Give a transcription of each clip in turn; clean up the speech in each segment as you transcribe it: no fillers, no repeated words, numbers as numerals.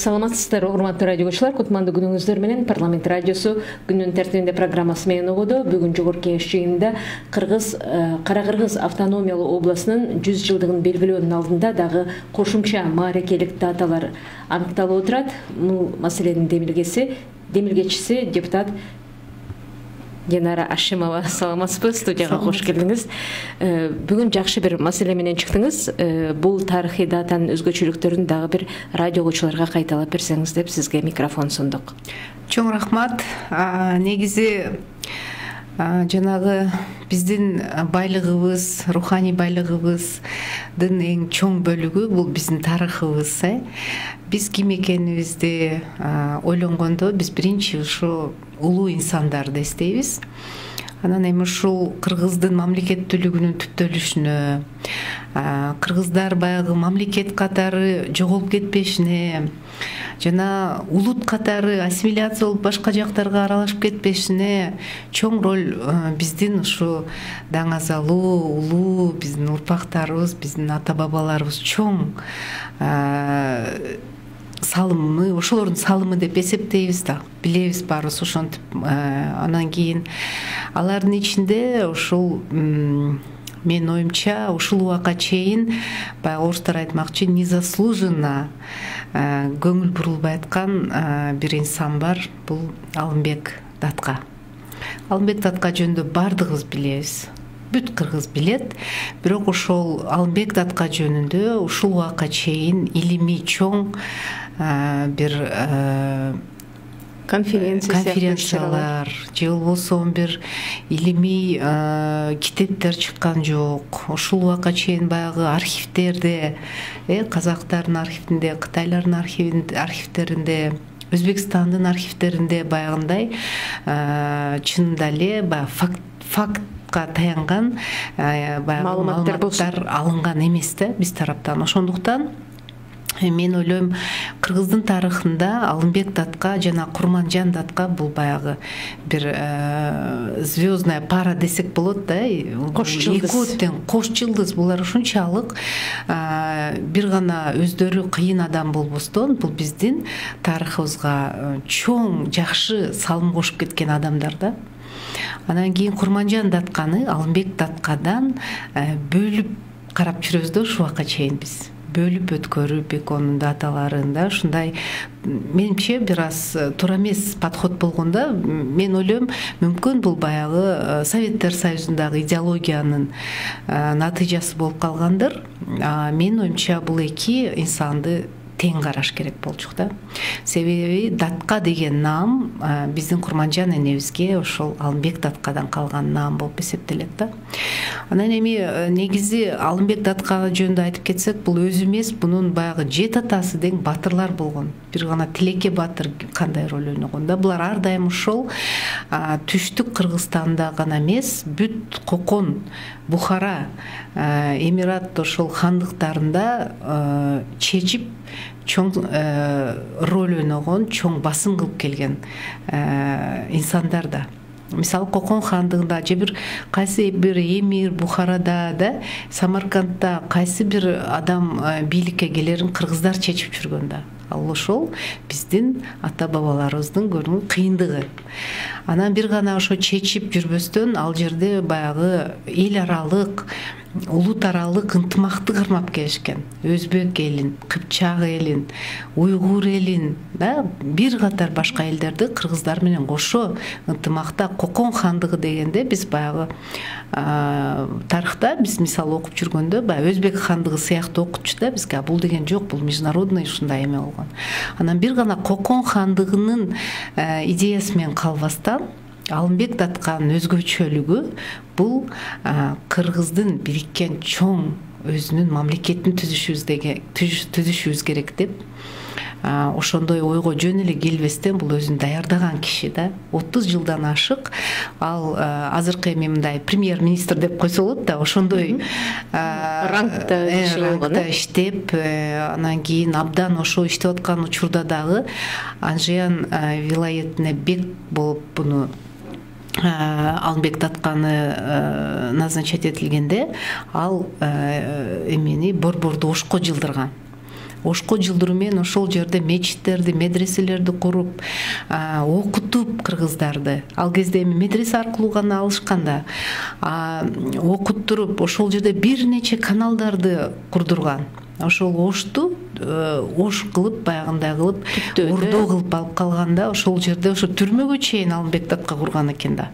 Саламатсыздар, урматтуу радиочулар. Кутмандуу күнүңүздөр менен Парламент радиосу күнүнүн тартибинде программасы менен угууда. Бүгүн жогорку кеңеш жыйынында Кара Кыргыз автономиялуу областынын 100 жылдыгын белгилөөнүн алдында дагы кошумча мааракелик даталар аныкталып отурат. Бул маселенин демилгечиси депутат Динара Ашимова. Саламатсызбы, студияга кош келдиңиз. Бүгүн жакшы бир маселе менен чыктыңыз. Бул тарыхый датанын өзгөчөлүктөрүн дагы бир радио окуучуларга кайталап берсеңиз деп сизге микрофон сундук. Чоң рахмат. Негизи жанагы биздин байлыгыбыз, руханий байлыгыбыздын эң чоң бөлүгү бул биздин тарыхыбыз. Биз ким экенибизди ойлонгондо биз биринчи ушу улуу инсандарды эстейбиз. Анан эми ушул кыргыздын мамлекеттүүлүгүнүн түптөлүшүнө, кыргыздар баягы мамлекет катары жоголуп кетпешине жана улут катары ассимиляция болуп башка жактарга аралашып кетпешине чоң роль биздин ушу даңазалуу, улуу биздин урпактарыбыз, биздин ата бабаларыбыз чоң салымы, ошолордун салымы деп эсептейбиз да, билебиз баарыбыз ошентип. Анан кийин алардын ичинде ушул менин оюмча ушул убакка чейин баягы орустар айтмакчы незаслуженно көңүл бурулбай аткан бир инсан бар. Бул Алымбек Датка. Алымбек Датка жөнүндө бардыгыбыз билебиз. Бүт кыргыз билет. Бирок ошол Алымбек Датка жөнүндө ушул убакка чейин илимий чоң бир конференциялар же болбосо бир илимий китептер чыккан жок. Ушул убакка чейин баягы архивдерде, казактардын архивинде, кытайлардын архивдеринде, Өзбекстандын архивдеринде баягындай чынында эле баягы фактка таянган баягы маалыматтар алынган эмес да биз тараптан. Ошондуктан мен ойлойм, кыргыздын тарыхында Алымбек Датка жана Курманжан Датка бул баягы бир звездная пара десек болот да. Кош жылдыз. Булар ушунчалык бир гана өздөрү кыйын адам болбостон, бул биздин тарыхыбызга чоң жакшы салым кошуп кеткен адамдар да. Анан кийин Курманжан Датканы Алымбек Даткадан бөлүп карап жүрөбүз да ушул убакка чейин биз. Бөлүп өткөрүп экөөнүн даталарында ушундай менимче бир аз туура эмес подход болгондо, мен ойлойм, мүмкүн бул баягы Советтер Союзундагы идеологиянын натыйжасы болуп калгандыр. Менин оюмча бул эки инсанды тең караш керек болчу да. Себеби Датка деген наам биздин Курманжан энебизге ошол Алымбек Даткадан калган наам болуп эсептелет да. Анан эми негизи Алымбек Датка жөнүндө айтып кетсек, бул өзү эмес, бунун баягы жет атасы дең батырлар болгон. Бир гана Тилеке батыр кандай роль ойногон да. Булар ар дайым ошол түштүк Кыргызстанда гана эмес, бүт Кокон, Бухара, Эмират ошол хандыктарында чечип чоң роль ойногон, чоң басым кылып келген инсандар да. Мисалы Кокон хандыгында же бир кайсы бир эмир Бухарада да, Самаркандда кайсы бир адам бийликке келерин кыргыздар чечип жүргөн да. Ал ошол биздин ата бабаларыбыздын көргөн кыйындыгы. Анан бир гана ошо чечип жүрбөстөн ал жерде баягы эл аралык, улут аралык ынтымакты кармап келишкен. Өзбек элин, Кыпчак элин, Уйгур элин да, бир катар башка элдерди кыргыздар менен кошо ынтымакта Кокон хандыгы дегенде биз баягы тарыхта биз мисалы окуп жүргөндө баягы Өзбек хандыгы сыяктуу окутчу да бизге. Бул деген жок, бул международный ушундай эме болгон. Анан бир гана Кокон хандыгынын идеясы менен калбастан Алымбек Датканын өзгөчөлүгү бул кыргыздын бириккен чоң өзүнүн мамлекетин түзүшүбүз керек деп ошондой ойго жөн эле келбестен бул өзүн даярдаган киши да. 30 жылдан ашык ал азыркы эми мындай премьер-министр деп койсо болот да, ошондой рангта иштеп, анан кийин абдан ошо иштеп аткан учурда дагы Анжеян вилаетине бек болуп буну Алымбек Датканы назначать этилгенде ал эмени борборду ошко жылдырган. ошко жылдыруу менен ошол жерде мечиттерди, медреселерди куруп, окутуп кыргыздарды. Ал кезде эми медресе аркылуу гана алышкан да. Окуттуруп, ошол жерде бир нече каналдарды курдурган. Ошол ошту ош кылып, баягындай кылып, ордо кылып алып калганда, ошол жерде ошо түрмөгө чейин Алымбек Датка курган экен да.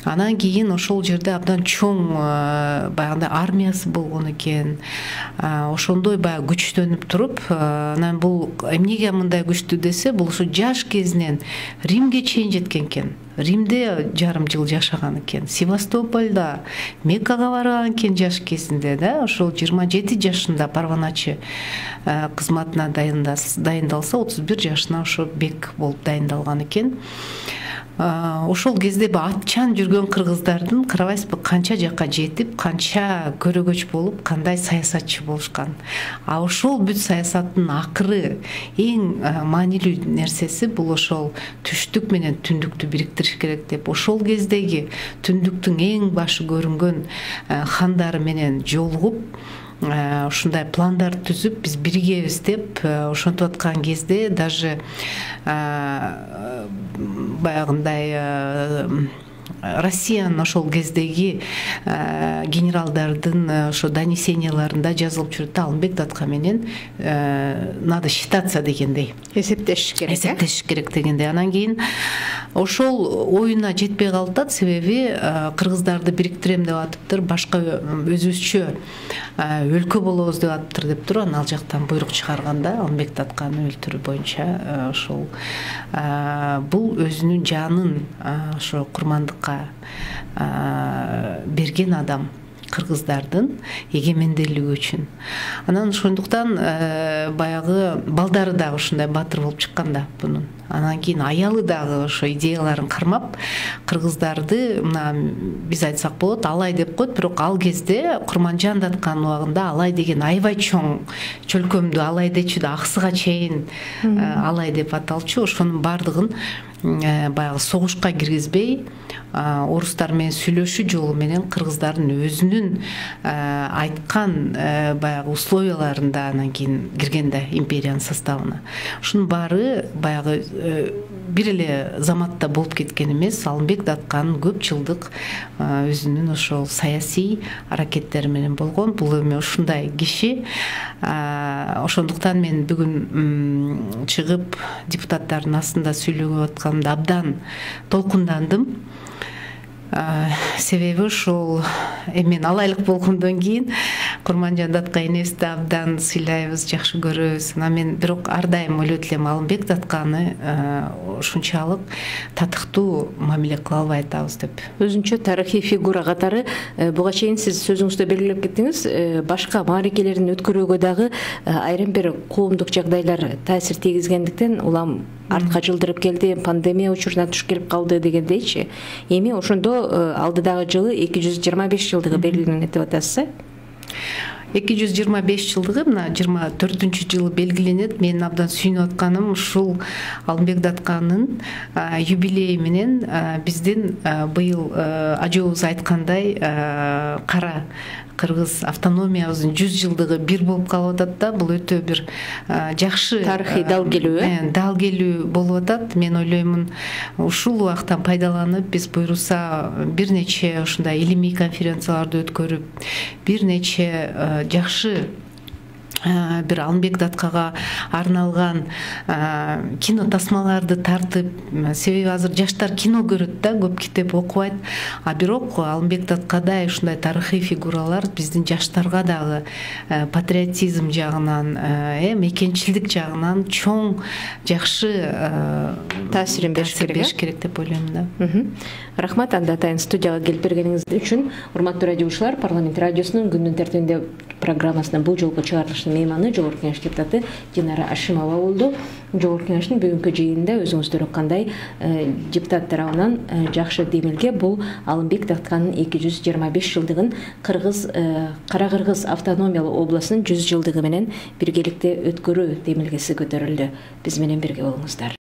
Анан кийин ошол жерде абдан чоң баягындай армиясы болгон экен. Ошондой баягы күчтөнүп туруп, анан бул эмнеге мындай күчтүү десе, бул ошо жаш кезинен Римге чейин жеткен экен. Римде жарым жыл жашаган экен. Севастопольда, Меккага барган экен жаш кезинде да. Ошол 27 жашында парваначы кызматына дайындалса, 31 жашына ошо бек болуп дайындалган экен. Ошол кезде атчан жүргөн кыргыздардын карабайсызбы канча жакка жетип, канча көрөгөч болуп, кандай саясатчы болушкан. Ошол бүт саясаттын акыры эң маанилүү нерсеси бул ошол түштүк менен түндүктү бириктириш керек деп. Ошол кездеги түндүктүн эң башы көрүнгөн хандары менен жолугуп, ушундай пландар түзүп, биз биригебиз деп ошентип аткан кезде даже баягындай Россиянын ошол кездеги генералдардын ошо донесенияларында жазылып жүрөт. Алымбек Датка менен надо считаться дегендей. Эсептешиш керек дегендей. Анан кийин ошол оюна жетпей калат, себеби кыргыздарды бириктирем деп атыптыр, башка өзүбүзчө өлкө болобуз деп атыптыр деп туруп, анан ал жактан буйрук чыгарганда Алымбек Датканы өлтүрүү боюнча ошол бул өзүнүн жанын ошо курмандыкка берген адам, кыргыздардын эгемендүүлүгү үчүн. Анан ошондуктан баягы балдары дагы ушундай батыр болуп чыккан да бунун. Анан кийин аялы дагы ошо идеяларын кармап, кыргыздарды мына биз айтсак болот, алай деп коет, бирок ал кезде Курманжан Датканын убагында алай деген аябай чоң чөлкөмдүү алай дечү да, аксыга чейин алай деп аталчу. Ошонун бардыгын баягы согушка киргизбей, орустар менен сүйлөшүү жолу менен кыргыздардын өзүнүн айткан баягы условияларында анан кийин кирген да империянын составына. Ушунун баары баягы бир эле заматта болуп кеткен эмес. Алымбек Датканын көп жылдык өзүнүн ошол саясий аракеттери менен болгон. Бул эми ушундай киши. Ошондуктан мен бүгүн чыгып депутаттардын астында сүйлөгө атканымда абдан толкундандым. Себеби ошол мен алайлык болгондон кийин Курманжан Датка энебизди абдан сыйлайбыз, жакшы көрөбүз. Анан мен бирок ар дайым ойлойт элем, Алымбек Датканы ушунчалык татыктуу мамиле кыла албай атабыз деп. Өзүнчө тарыхый фигура катары буга чейин сиз сөзүңүздө белгилеп кеттиңиз, башка маарекелерин өткөрүүгө дагы айрым бир коомдук жагдайлар таасир тийгизгендиктен улам артка жылдырып келди, пандемия учуруна туш келип калды дегендейчи. Эми ошондо алдыдагы жылы 225 жылдыгы белгиленет деп атасыз, 225 жылдыгы мына 24-жылы белгиленет. Мен абдан сүйүнүп атканым ушул Алымбек Датканын юбилейи менен биздин быйыл ажообуз айткандай кара кыргыз автономиябыздын 100 жылдыгы бир болуп калып атат да. Бул өтө бир жакшы тарыхый дал келүү болуп атат. Мен ойлоймун, ушул убактан пайдаланып биз буйруса бир нече ушундай илимий конференцияларды өткөрүп, бир нече жакшы бир Алымбек Даткага арналган кино тасмаларды тартып, себеби азыр жаштар кино көрөт да, көп китеп окубайт. Бирок Алымбек Даткадай ушундай тарыхый фигуралар биздин жаштарга дагы патриотизм жагынан, мекенчилдик жагынан чоң жакшы таасирин бериш керек деп ойлойм да. Рахмат, анда атайын студияга келип бергениңиз үчүн. Урматтуу радиочулар, Парламент радиосунун күндүн тертибинде программасына бул жолку чыгарылыштын мейманы Жогорку Кеңеш депутаты Динара Ашимова болду. Жогорку Кеңештин бүгүнкү жыйынында өзүңүздөр уккандай депутат тарабынан жакшы демилге бул Алымбек Датканын 225 жылдыгын Кара Кыргыз автономиялуу областынын 100 жылдыгы менен биргеликте өткөрүү демилгеси көтөрүлдү. Биз менен бирге болуңуздар.